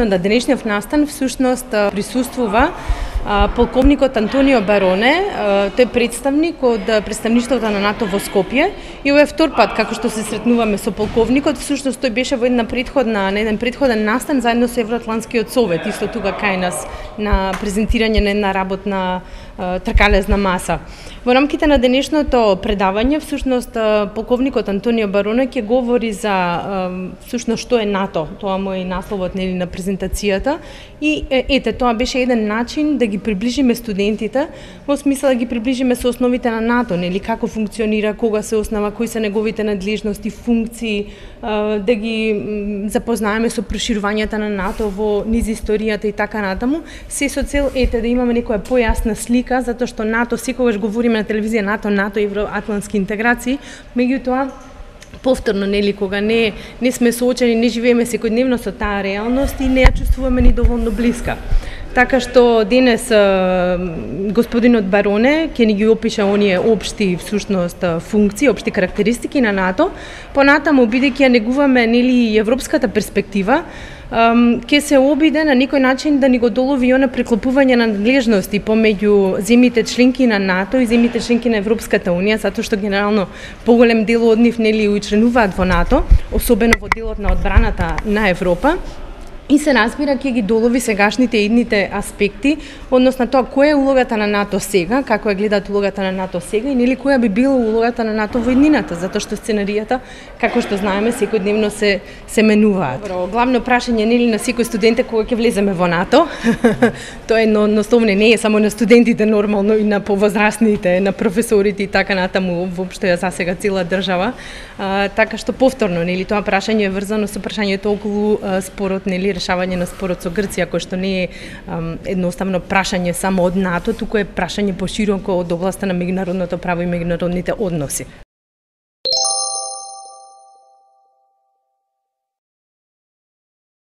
на денешниот настан всушност присуствува полковникот Антонио Бароне, тој представник од представништвото на НАТО во Скопје, и ова е втор пат како што се сретнуваме со полковникот. Всушност тој беше во еден предходен настан заедно со Евроатлантскиот совет, исто тука кај нас на презентирање на една работна тркалезна маса. Во рамките на денешното предавање, всушност полковникот Антонио Бароне ќе говори за всушност што е НАТО. Тоа му е насловот на презентацијата, и ете, тоа беше еден начин да ги приближиме студентите, во смисла да ги приближиме со основите на НАТО, нели, како функционира, кога се основа, кои се неговите надлежности, функции, да ги запознаеме со проширувањето на НАТО во низ историјата и така натаму, се со цел да имаме некоја појасна слика, затоа што НАТО, секогаш говориме на телевизија НАТО, евроатлантски интеграции, меѓутоа повторно, нели, кога не сме соочени, не живееме секојдневно со таа реалност и не ја чувствуваме ни доволно блиска. Така што денес господинот Бароне ќе ни ги опише оние општи всушност функции, општи карактеристики на НАТО. Понатаму, бидејќи ја негуваме, нели, европската перспектива, ќе се обиде на некој начин да ни го долови она преклопување на надлежности помеѓу земјите членки на НАТО и земјите членки на Европската унија, затоа што генерално поголем дел од нив, нели, учленуваат во НАТО, особено во делот на одбраната на Европа. И се разбира, ќе ги долови сегашните и идните аспекти, односно тоа која е улогата на НАТО сега, како ја гледаат улогата на НАТО сега и нели која би била улогата на НАТО во иднината, затоа што сценаријата, како што знаеме, секојдневно се менуваат. Главно прашање, нели, на секој студент е кога ќе влеземе во НАТО. Тоа едноставно не е само на студентите, нормално и на повозрастните, на професорите и така натаму, воопшто ја засега цела држава. Така што повторно, нели, тоа прашање е врзано со прашањето околу спорот, нели, решавање на спорот со Грција, кој што не е едноставно прашање само од НАТО, туку е прашање пошироко од областа на меѓународното право и меѓународните односи.